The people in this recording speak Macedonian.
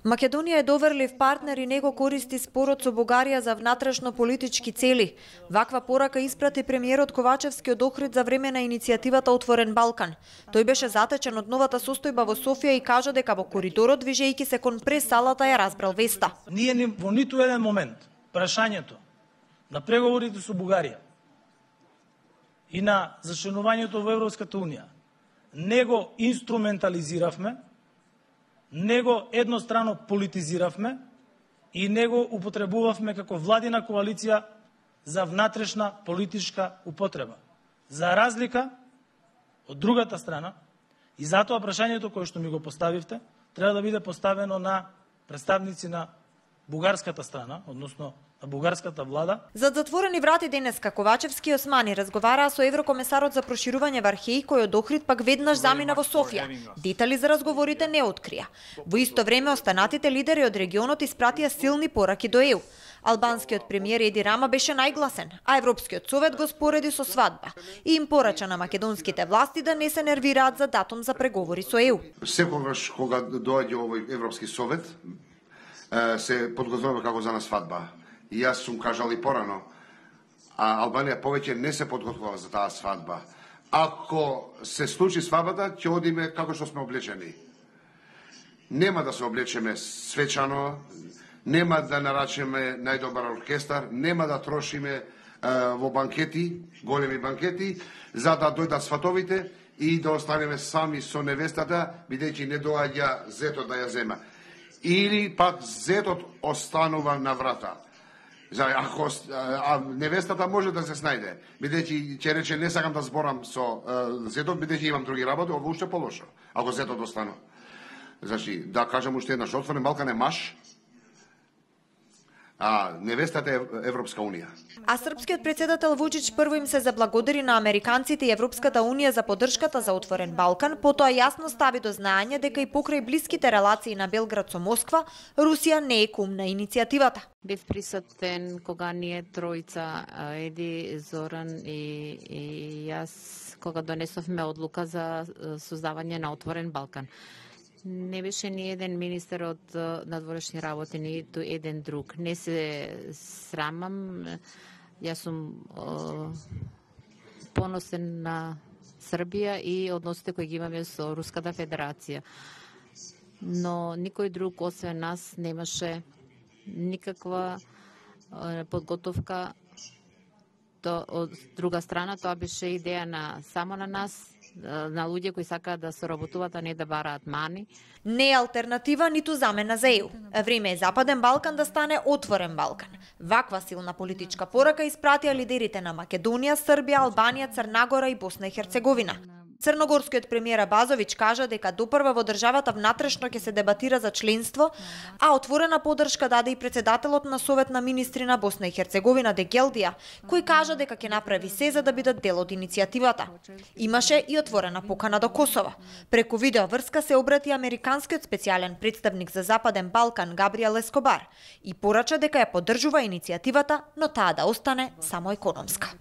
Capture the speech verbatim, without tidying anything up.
Македонија е доверлив партнер и него користи спорот со Бугарија за внатрешно политички цели. Ваква порака испрати премиерот Ковачевски од Охрид за време на иницијативата Отворен Балкан. Тој беше затечен од новата состојба во Софија и кажа дека во коридорот, движејќи се кон прес-салата, ја разбрал веста. Ние ни во ниту еден момент прашањето на преговорите со Бугарија и на зачленувањето во Европската унија не го инструментализиравме, не го еднострано политизиравме и не го употребувавме како владина коалиција за внатрешна политичка употреба. За разлика од другата страна, и затоа прашањето кое што ми го поставивте треба да биде поставено на представници на бугарската страна, односно на бугарската влада. За затворени врати денеска Ковачевски и Османи разговараа со еврокомесарот за проширување Вархеј, кој од Охрид пак веднаш замина во Софија. Детали за разговорите не открија. Во исто време останатите лидери од регионот испратија силни пораки до Е У. Албанскиот премиер Еди Рама беше најгласен, а Европскиот совет го спореди со свадба и им порача на македонските власти да не се нервираат за датум за преговори со Е У. Секогаш кога доаѓа овој Европски совет, се подготвува како за на свадба. И јас сум кажал и порано, а Албанија повеќе не се подготвува за таа свадба. Ако се случи свадбата, ќе одиме како што сме облечени. Нема да се облечеме свечано, нема да нарачеме најдобар оркестар, нема да трошиме е, во банкети, големи банкети, за да дојдат сватовите и да останеме сами со невестата, бидејќи не доаѓа зетот да ја зема. Или пак зетот останува на врата. За ако а, невестата може да се снајде, бидејќи ќе рече не сакам да зборам со а, зетот, бидејќи имам други работи, ова уште полошо. Ако зетот останува. Значи, да кажам уште еднаш, Отворен Балкан е маш, а невестата е Европска унија. А српскиот председател Вучич прво им се заблагодари на американците и Европската унија за поддршката за Отворен Балкан, потоа јасно стави до знаење дека и покрај блиските релации на Белград со Москва, Русија не е кум на иницијативата. Бев присутен кога ние тројца, Еди, Зоран и, и јас, кога донесовме одлука за создавање на Отворен Балкан. Не беше ни еден министер од надворешни работи, ниту еден друг. Не се срамам. Јас сум е, поносен на Србија и односите кои ги имаме со Руската Федерација. Но никој друг освен нас немаше никаква е, подготовка. То, од друга страна, тоа беше идеја на само на нас, на луѓе кои сакаат да се работуваат, а не да бараат мани. Не е алтернатива ниту замена за Е У. Време е Западен Балкан да стане Отворен Балкан. Ваква силна политичка порака испратија лидерите на Македонија, Србија, Албанија, Црна Гора и Босна и Херцеговина. Црногорскиот премиер Базович кажа дека допрва во државата внатрешно ќе се дебатира за членство, а отворена поддршка даде и председателот на Совет на министри на Босна и Херцеговина Дегелдија, кој кажа дека ќе направи се за да бидат дел од иницијативата. Имаше и отворена покана до Косово. Преку видео врска се обрати американскиот специјален представник за Западен Балкан Габриел Ескобар и порача дека ја поддржува иницијативата, но таа да остане само економска.